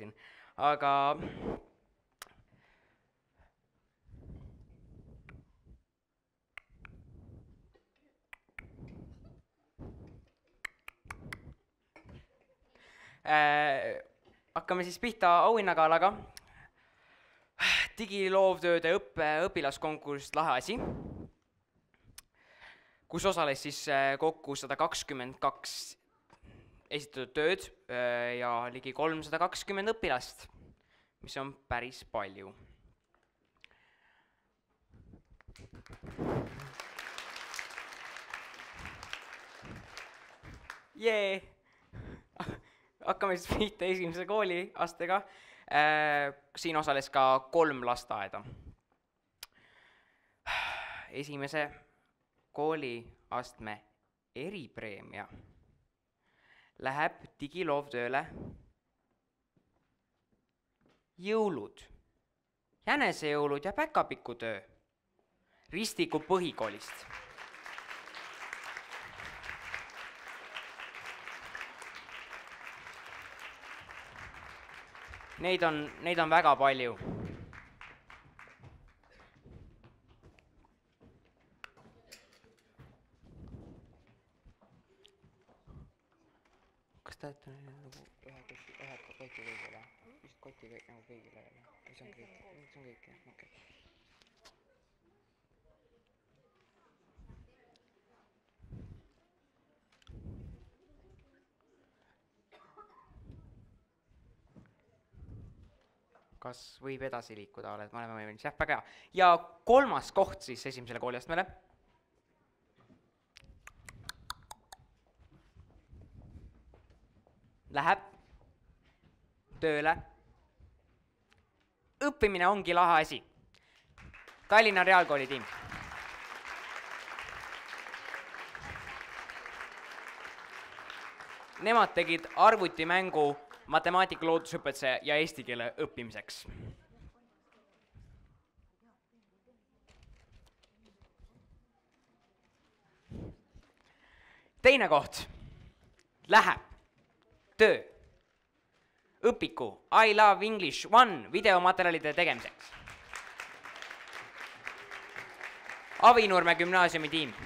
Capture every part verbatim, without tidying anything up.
siin. Aga äh, hakkame siis pihta auhinnagalaga. Digiloovtööde õppe õpilaskonkurss Lahe asi, kus osales siis kokku sada kakskümmend kaks esitatud tööd ja ligi kolmsada kakskümmend õpilast, mis on päris palju. Jee! Hakkame siis pihta esimese kooliastega. Siin osales ka kolm lasteaeda. Esimese kooliastme eripreemia läheb digiloovtööle jõulud, jänesejõulud ja päkapikutöö Ristiku põhikoolist. Neid on, neid on väga palju. Kas ta et on nagu ühe koti, ühe koti kõigile? Vist koti kõik nagu kõigile? See on kõik, see on kõik, jah, okei. Kas võib edasi liikuda, oled, me oleme võimelis, jah, väga hea. Ja kolmas koht siis esimesele kooliastmele. Läheb tööle. Õppimine ongi lahe asi. Tallinna Reaalkooli tiim. Nemad tegid arvutimängu matemaatika loodusõpetuse ja eesti keele õppimiseks. Teine koht läheb töö õpiku I Love English One videomaterjalide tegemiseks. Avinurme gümnaasiumi tiim.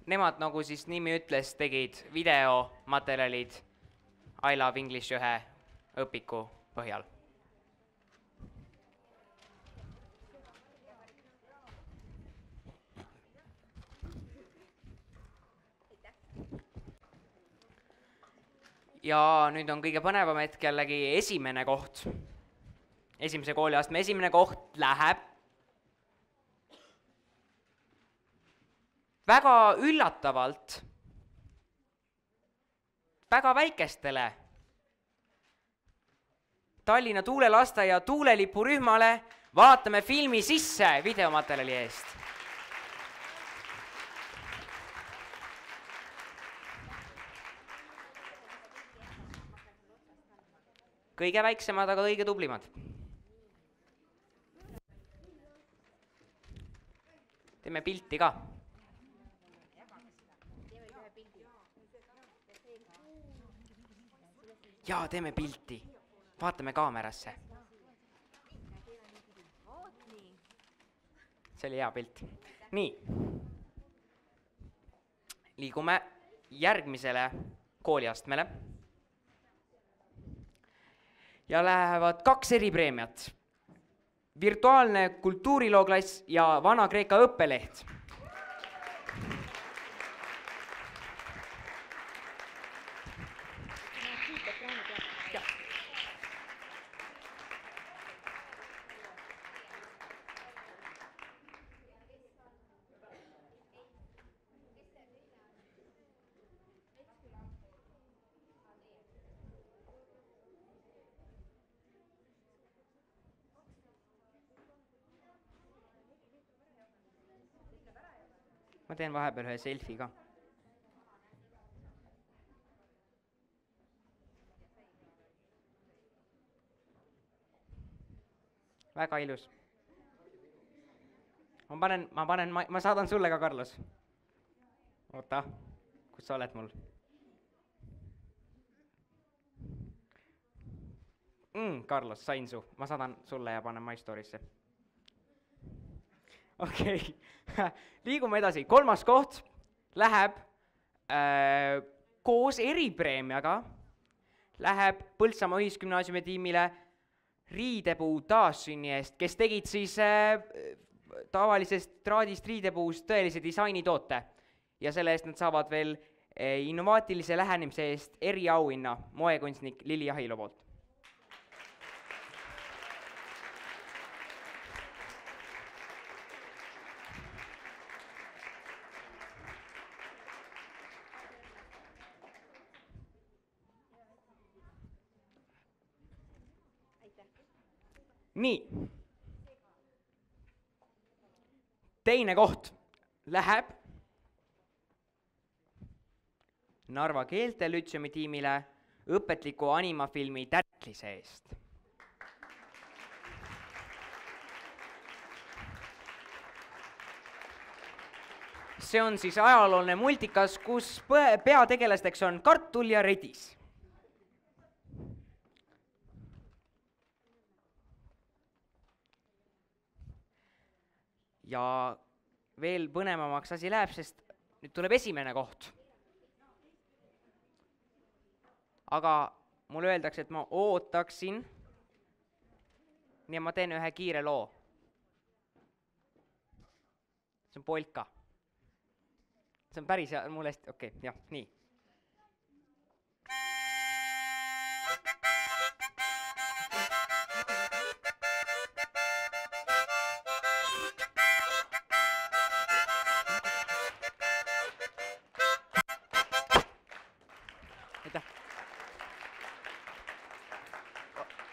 Nemad, nagu siis nimi ütles, tegid videomaterjalid I Love English ühe õpiku põhjal. Ja nüüd on kõige põnevam hetk jällegi esimene koht. Esimese kooliastme esimene koht läheb väga üllatavalt, väga väikestele Tallinna tuulelasteaia tuulelipurühmale Vaatame filmi sisse videomaterjali eest. Kõige väiksemad, aga kõige tublimad. Teeme pilti ka. Jaa, teeme pilti. Vaatame kaamerasse. See oli hea pilt. Nii. Liigume järgmisele kooliastmele. Ja lähevad kaks eripreemiat. Virtuaalne kultuurilooklass ja Vana-Kreeka õppeleht. Ma teen vahepeal ühe selfie ka. Väga ilus. ma panen, ma panen, ma, ma saadan sulle ka, Carlos. Oota, kus sa oled mul? Mm, Carlos, sain su, ma saadan sulle ja panen My Story'sse. Okei okay. Liigume edasi, kolmas koht läheb äh, koos eripreemiaga, läheb Põltsamaa Ühisgümnaasiumi tiimile riidepuu taassünni eest, kes tegid siis äh, tavalisest traadist riidepuust tõelise disainitoote ja selle eest nad saavad veel äh, innovaatilise lähenemise eest eriauhinna moekunstnik Lili Ahilo poolt. Nii, teine koht läheb Narva keeltelütseumi tiimile õpetliku animafilmi Tärklise eest. See on siis ajalooline multikas, kus peategelasteks on kartul ja redis. Ja veel põnevamaks asi läheb, sest nüüd tuleb esimene koht. Aga mulle öeldakse, et ma ootaksin, nii ma teen ühe kiire loo. See on polka. See on päris mulle hästi, okei, okay, jah, nii.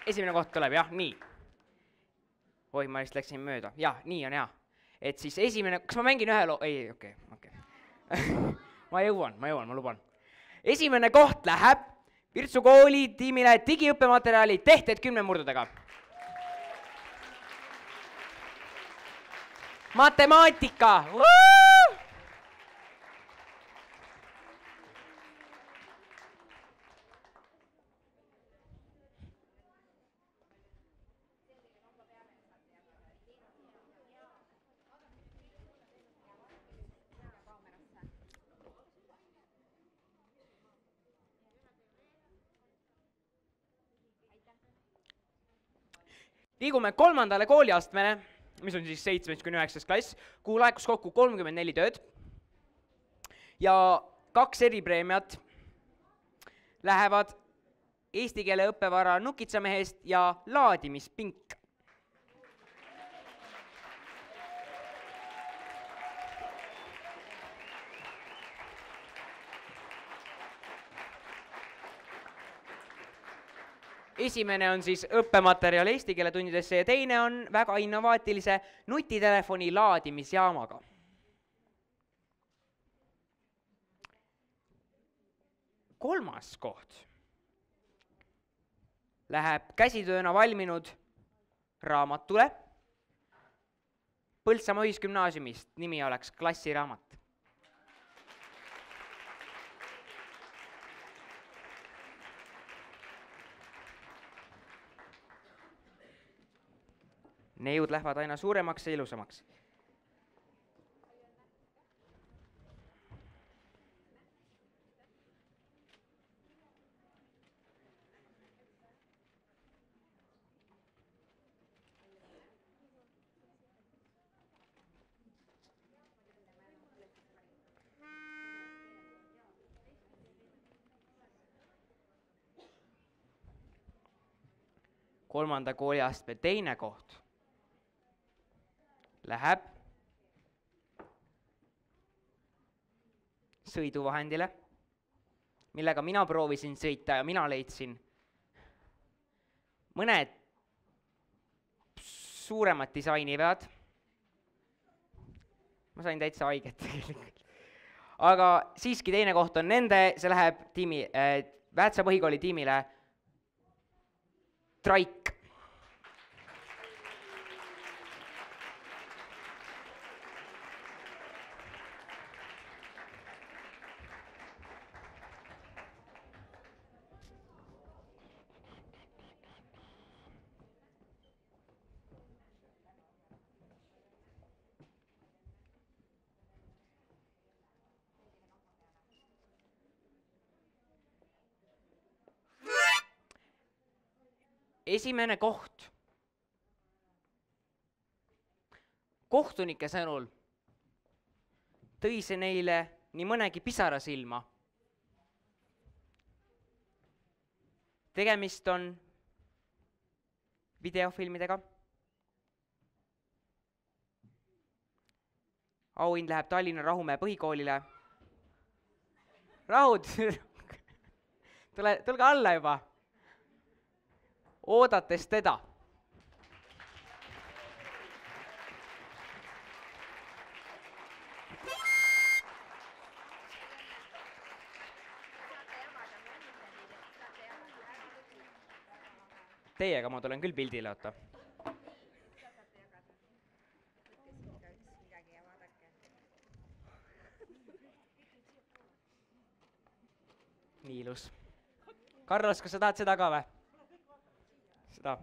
Esimene koht tuleb, jah, nii. Oi, ma vist läksin mööda. Jah, nii on hea. Et siis esimene, kas ma mängin ühe loo? Ei, okei, okei. Ma jõuan, ma jõuan, ma luban. Esimene koht läheb Virtsu kooli tiimile digiõppematerjali tehted kümnemurdudega. Matemaatika! Liigume kolmandale kooliastmele, mis on siis seitsmest kuni üheksas klass, kuhu laekus kokku kolmkümmend neli tööd ja kaks eripreemiat lähevad eesti keele õppevara Nukitsamehest ja laadimispink. Esimene on siis õppematerjal eesti keele tundidesse ja teine on väga innovaatilise nutitelefoni laadimisjaamaga. Kolmas koht läheb käsitööna valminud raamatule Põltsamaa Ühisgümnaasiumist, nimi oleks klassiraamat. Neiud lähevad aina suuremaks ja ilusamaks. Kolmanda kooliastme teine koht läheb sõiduvahendile, millega mina proovisin sõita ja mina leidsin mõned suuremad disainivead. Ma sain täitsa haiget tegelikult. Aga siiski teine koht on nende, see läheb tiimi, äh, Väätsa põhikooli tiimile Traik. esimene koht. Kohtunike sõnul tõi see neile nii mõnegi pisara silma. Tegemist on videofilmidega. Auhind läheb Tallinna Rahumäe põhikoolile. Rahud, tule, tulge alla juba. Oodates teda. Teiega ma tulen küll pildile, oota. Nii ilus. Carlos, kas sa tahad seda ka või? Seda.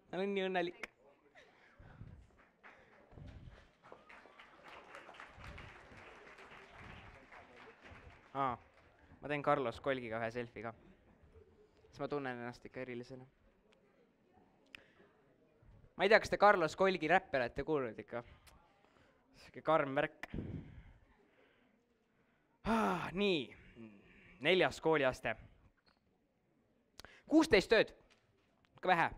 Ma olen nii õnnelik. Aa, ma teen Carlos Kolgiga ühe selfie ka. Siis ma tunnen ennast ikka erilisena. Ma ei tea, kas te Carlos Kolgi räppi olete kuulnud ikka. Siuke karm värk. Ah, nii, neljas kooliaste. kuusteist tööd. Ka vähe.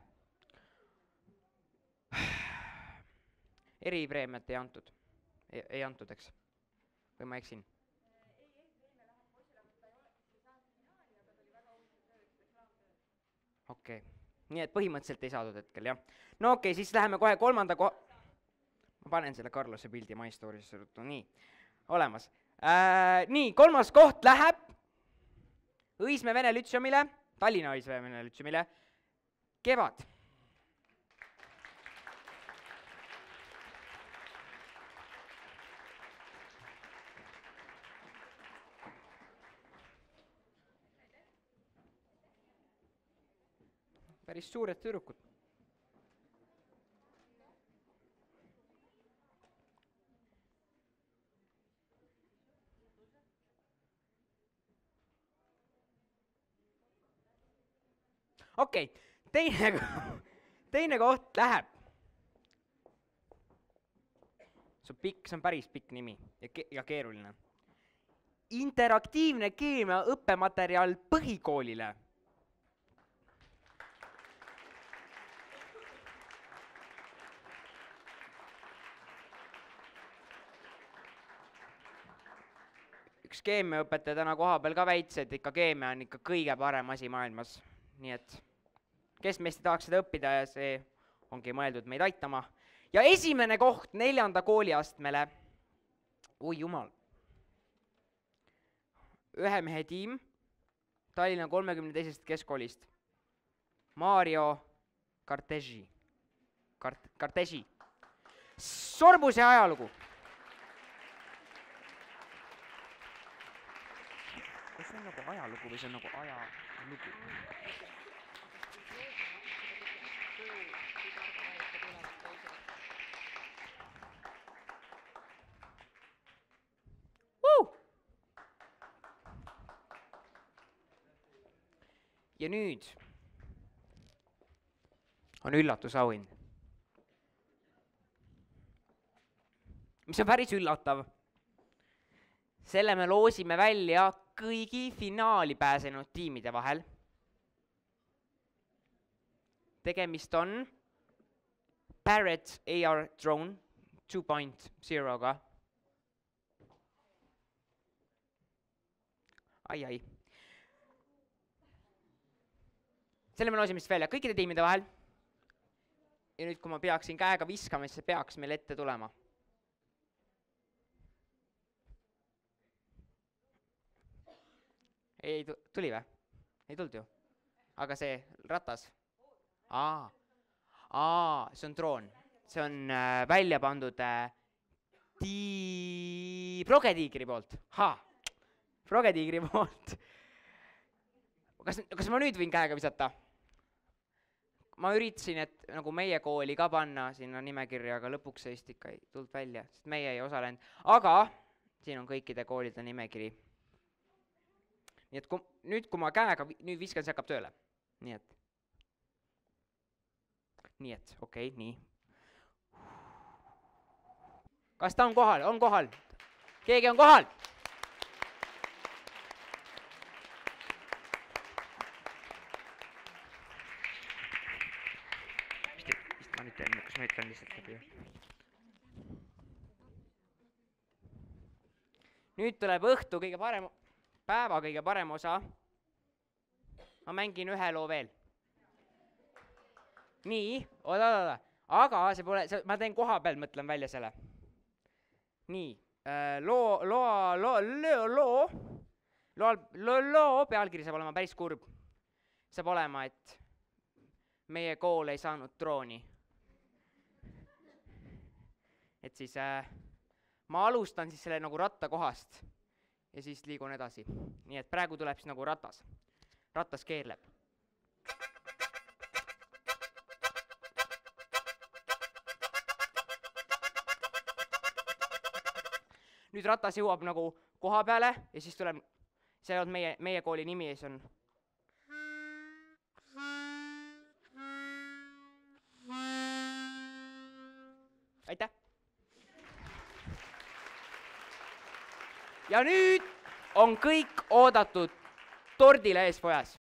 Eripreemiat ei antud. Ei, ei antud, eks? Või ma eksin? Okei, okay. Nii et põhimõtteliselt ei saadud hetkel, jah. No okei, okay, siis läheme kohe kolmanda koha... Ma panen selle Carlose pildi My Stories'e ruttu, nii, olemas. Äh, nii, kolmas koht läheb Õismäe Vene Lütseumile, Tallinna Õismäe Vene Lütseumile, Kevad. Päris suured tüdrukud. Okei, okay. teine, teine koht läheb. See on pikk, see on päris pikk nimi ja, ke ja keeruline. Interaktiivne keemia õppematerjal põhikoolile. Üks keemiaõpetaja täna koha peal ka väits, et ikka keemia on ikka kõige parem asi maailmas. Nii et kes meist ei tahaks seda õppida ja see ongi mõeldud meid aitama. Ja esimene koht neljanda kooliastmele. Oi jumal. Ühe mehe tiim Tallinna kolmekümne teisest keskkoolist. Mario Kartesi. Kart Kartesi. Sorbuse ajalugu. Kas see on nagu ajalugu või see on nagu ajalugu? Woo! Ja nüüd on üllatusauhind. Mis on päris üllatav. Selle me loosime välja kõigi finaali pääsenud tiimide vahel. Tegemist on Parrot A R Drone two point zero'ga. Ai, ai. Selle me loosime välja kõikide tiimide vahel. Ja nüüd, kui ma peaksin käega viskama, siis see peaks meil ette tulema. Ei tuli või? Ei tulnud ju. Aga see ratas? Aa, Aa see on droon. See on äh, välja pandud äh, tii... Progetiigri poolt. Ha! Progetiigri poolt. Kas, kas ma nüüd võin käega visata? Ma üritasin, et nagu meie kooli ka panna sinna nimekirja, aga lõpuks seist ikka ei tulnud välja, sest meie ei osalenud. Aga siin on kõikide koolide nimekiri. nii et kui, nüüd, kui ma käega nüüd viskan, see hakkab tööle. Nii et, nii et, okei, okay, nii. Kas ta on kohal? On kohal? Keegi on kohal? Vist ma nüüd teen, kas ma ütlen lihtsalt läbi. Nüüd tuleb õhtu kõige parem, päeva kõige parem osa. Ma mängin ühe loo veel. Nii, oda, oda, aga see pole, see, ma teen koha peal, mõtlen välja selle. Nii, loo, loo, loo, loo, loo, loo, loo, loo pealkiri saab olema päris kurb. Saab olema, et meie kool ei saanud trooni. Et siis äh, ma alustan siis selle nagu ratta kohast ja siis liigun edasi. Nii et praegu tuleb siis nagu ratas. Ratas keerleb. Nüüd ratas jõuab nagu koha peale ja siis tuleb, see on meie, meie kooli nimi ja siis on. Aitäh! Ja nüüd on kõik oodatud tordile ees pojas.